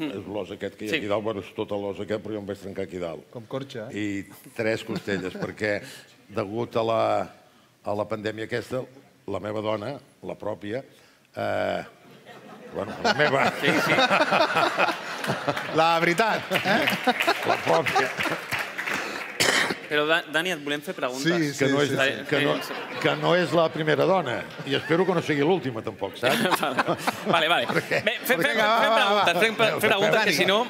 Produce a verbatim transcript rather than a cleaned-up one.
és l'os aquest que hi ha aquí dalt, bueno, és tot l'os aquest, però jo em vaig trencar aquí dalt. Com corxa, eh? I tres costelles, perquè degut a la, a la pandèmia aquesta, la meva dona, la pròpia, eh, bueno, la meva... Sí, sí. La veritat, eh? La pròpia... Però, Dani, et volem fer preguntes. Sí, sí, que no és, sí. que no, que no és la primera dona. I espero que no sigui l'última, tampoc, saps? Vale, vale. Bé, fem preguntes, fem preguntes, que si no...